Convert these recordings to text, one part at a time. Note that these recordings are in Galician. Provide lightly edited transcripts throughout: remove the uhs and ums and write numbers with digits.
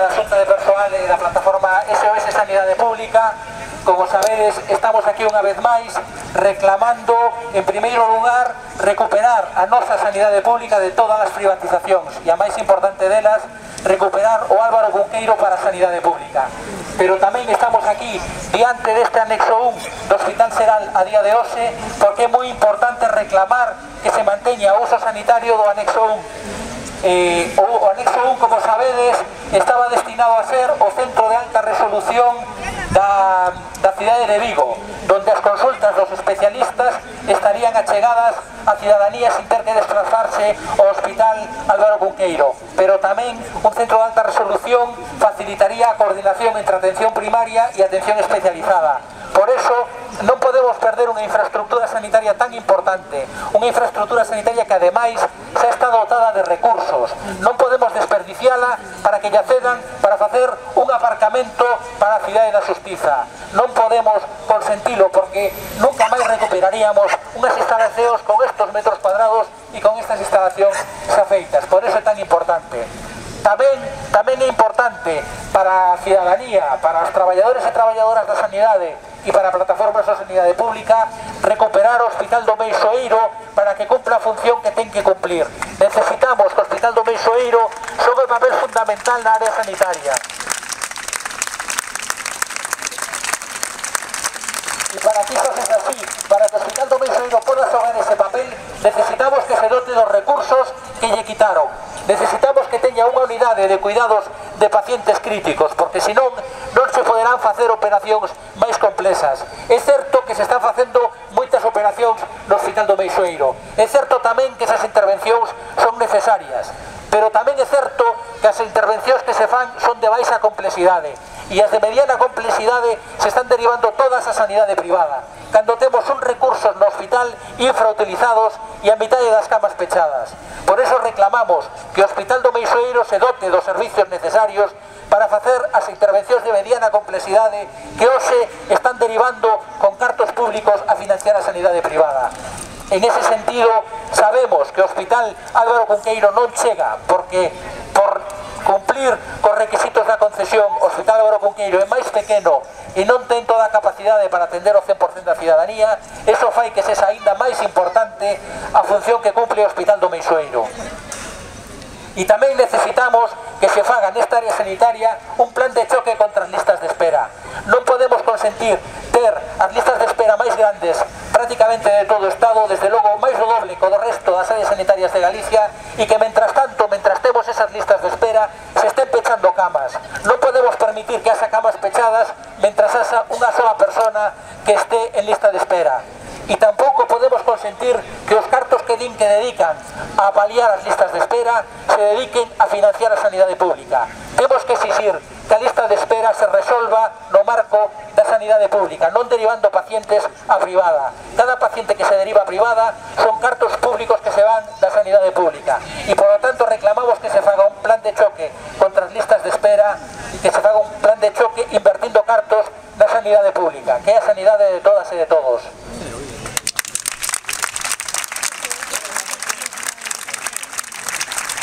compañía da Xunta de Persoal e da plataforma SOS Sanidade Pública. Como sabedes, estamos aquí unha vez máis reclamando, en primeiro lugar, recuperar a nosa sanidade pública de todas as privatizacións e a máis importante delas, recuperar o Álvaro Cunqueiro para a sanidade pública. Pero tamén estamos aquí diante deste anexo 1 do Hospital Seral a día de hoxe porque é moi importante reclamar que se manteña o uso sanitario do anexo 1. O anexo 1, como sabedes, estaba destinado a ser o centro de alta resolución da cidade de Vigo, donde as consultas dos especialistas estarían achegadas a cidadanía sin ter que desplazarse ao Hospital Álvaro Cunqueiro, pero tamén un centro de alta resolución facilitaría a coordinación entre atención primaria e atención especializada. Por eso non podemos perder unha infraestructura sanitaria tan importante, unha infraestructura sanitaria que ademais xa está dotada de recursos. Non podemos desperdiciala para que lle cedan para facer un aparcamento para a cidade da Xustiza. Non podemos consentilo porque nunca máis recuperaríamos unhas instalacións con estos metros cuadrados e con estas instalacións xa feitas. Por eso é tan importante. Tamén é importante para a cidadanía, para os traballadores e traballadoras da sanidade e para a plataforma de sanidade pública recuperar o Hospital do Meixoeiro para que cumpla a función que ten que cumplir. Necesitamos que o Hospital do Meixoeiro xogue un papel fundamental na área sanitaria. E para que iso sexa así, para que o Hospital do Meixoeiro poda xogar ese papel, necesitamos que se dote dos recursos que lle quitaron. Necesitamos que teña unha unidade de cuidados de pacientes críticos, porque senón non se poderán facer operacións máis complexas. É certo que se están facendo moitas operacións no Hospital do Meixoeiro. É certo tamén que esas intervencións son necesarias, pero tamén é certo que as intervencións que se fan son de baixa complexidade e as de mediana complexidade se están derivando todas a sanidade privada, cando temos uns recursos no hospital infrautilizados e a mitad das camas pechadas. Por eso reclamamos que o Hospital do Meixoeiro se dote dos servicios necesarios para facer as intervencións de mediana complexidade que hoxe están derivando con cartos públicos a financiar a sanidade privada. En ese sentido, sabemos que o Hospital Álvaro Cunqueiro non chega porque por cumplir cos requisitos da concesión o Hospital Álvaro Cunqueiro é máis pequeno e non ten toda a capacidade para atender o 100% da cidadanía. Eso fai que sexa aínda máis importante a función que cumple o Hospital do Meixoeiro. E tamén necesitamos que se faga nesta área sanitaria un plan de choque contra as listas de espera. Non podemos consentir ter as listas de espera máis grandes prácticamente de todo o Estado, desde logo máis do doble co do resto das áreas sanitarias de Galicia, e que mentras tanto, mentras temos esas listas de espera, se estén pechando camas. Non podemos permitir que haxa camas pechadas mentras haxa unha sola persona que este en lista de espera. E tampouco podemos consentir que os cartos que dedican a paliar as listas de espera se dediquen a financiar a sanidade pública. Temos que exixir que a lista de espera se resolva no marco da sanidade pública, non derivando pacientes a privada. Cada paciente que se deriva a privada son cartos públicos que se van da sanidade pública. E, por lo tanto, reclamamos que se faga un plan de choque contra as listas de espera e que se faga un plan de choque invertindo cartos na sanidade pública, que é a sanidade de todas e de todos.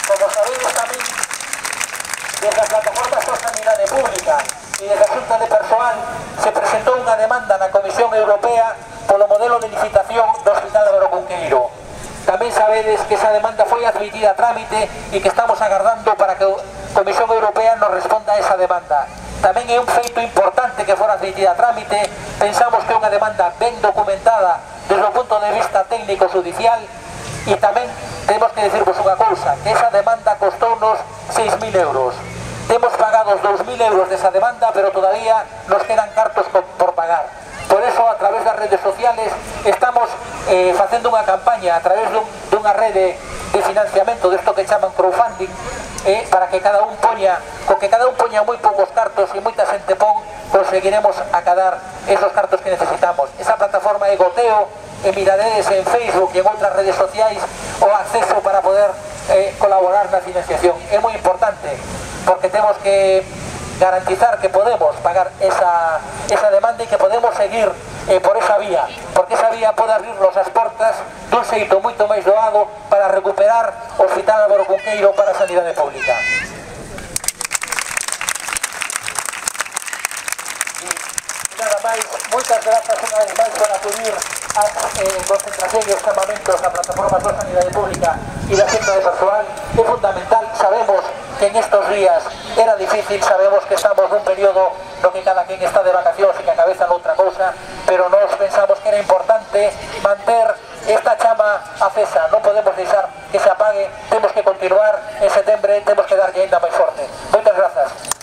Como sabedes tamén, desde a plataforma de sanidade pública e desde a Xunta de Persoal se presentou unha demanda na Comisión Europea polo modelo de licitación do Hospital Álvaro Cunqueiro. Tamén sabedes que esa demanda foi admitida a trámite e que estamos agardando para que a Comisión Europea nos responda a esa demanda. Tamén é un feito importante que fora admitida a trámite. Pensamos que é unha demanda ben documentada desde o punto de vista técnico-judicial. E tamén temos que dicirvos unha cousa, que esa demanda costounos 6.000 euros. Temos pagados 2.000 euros desa demanda, pero todavía nos quedan cartos por pagar. Por eso, a través das redes sociales, estamos facendo unha campaña a través dunha rede de financiamento desto que chaman crowdfunding, para que cada un poña, co que cada un poña moi poucos cartos e moita xente pon, conseguiremos acadar esos cartos que necesitamos. Esa plataforma é Goteo, e miraredes en Facebook e en outras redes sociais o acceso para poder colaborar na financiación. É moi importante porque temos que garantizar que podemos pagar esa demanda e que podemos seguir por esa vía, porque esa vía pode abrirnos as portas dun xeito moito máis doado para recuperar o Hospital Álvaro Cunqueiro para a sanidade pública. Moitas grazas unha vez máis por acudir ás concentracións e os campamentos da Plataforma por Sanidade Pública e da Xunta de Persoal. É fundamental, sabemos que en estos días era difícil, sabemos que estamos nun período no que cada quen está de vacacións e que a cabeza noutra cousa, pero nós pensamos que era importante manter esta chama acesa, non podemos deixar que se apague, temos que continuar en setembro, temos que darlle ainda máis forte. Moitas grazas.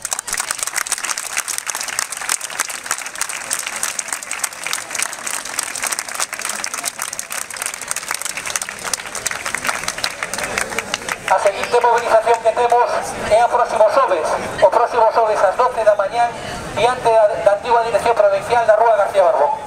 A seguinte movilización que temos é o próximo xoves ás 12 da mañán diante da antiga Dirección Provincial da Rúa García Barbón.